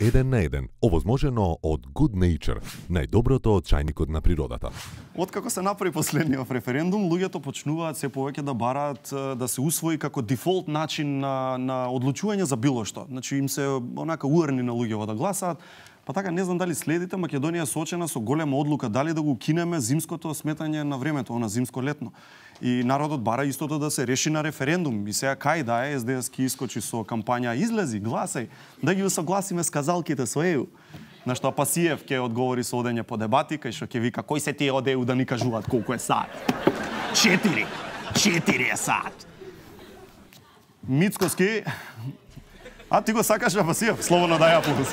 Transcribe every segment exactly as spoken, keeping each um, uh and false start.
еден на еден, овозможено од Good Nature, најдоброто од чајникот на природата. Откако се направи последниот референдум, луѓето почнуваат се повеќе да бараат да се усвои како дефолт начин на, на одлучување за било што. Значи им се онака уерни на луѓето да гласаат. Па така, не знам дали следите, Македонија соочена со голема одлука дали да го кинеме зимското сметање на времето, она зимско-летно. И народот бара истото да се реши на референдум. И сега кај да е, Ес Де Ес ки искочи со кампања излези, гласај, да ги усогласиме сказалките со Е У. На што Пасиев ќе одговори со одење по дебати, кај што ќе вика кој се тие од Е У да ни кажуваат колку е саат. Четири. Четири е саат. Мицкоски, а ти го сакаш на Пасиев? Слободно дај аплауз.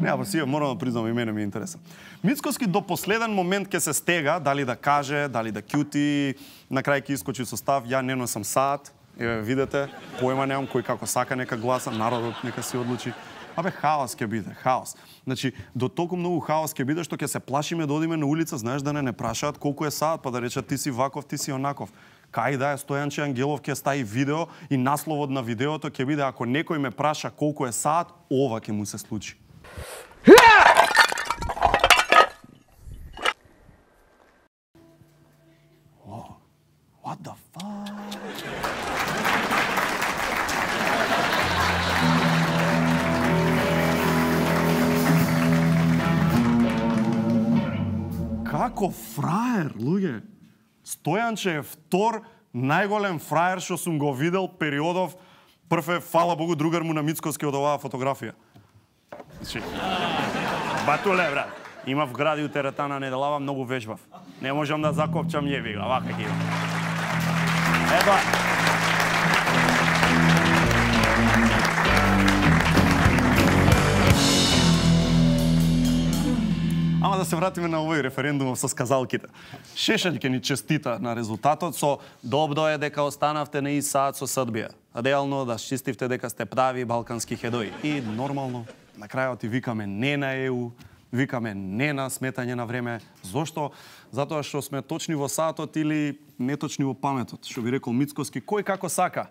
Не, Пасиев, морам да признам, и мене ми е интересен. Мицкоски до последен момент ќе се стега, дали да каже, дали да кјути, на крај ќе искочи со став, ја не носам саат, еве видете, појма немам, кој како сака нека гласа, народот нека се одлучи. Абе, хаос ќе биде, хаос. Значи, до толку многу хаос ќе биде што ќе се плашиме да одиме на улица, знаеш, да не не прашаат колку е саат, па да речат ти си ваков, ти си онаков. Кај да е, Стојанче Ангелов ќе стави видео и насловот на видеото ќе биде ако некој ме праша колку е саат, ова ќе му се случи. Oh, what the fuck? Како фраер, луѓе. Стојанче е втор најголем фраер што сум го видел периодов. Прв е, фала Богу, другар му на Мицкоски од оваа фотографија. Значи, батуле, брат. Имав гради у теретана неделава, многу вежбав. Не можам да закопчам јеби га, вака ги. Еба. Ама да се вратиме на овој референдум со сказалките. Шешелј ќе ни честита на резултатот со добро е дека останавте на ист саат со Србија. Реално да чистивте дека сте прави балкански хедои. И нормално, на крајот и викаме не на Е У, викаме не на сметање на време. Зошто? Затоа што сме точни во саатот или неточни во паметот. Што би рекол Мицкоски, кој како сака.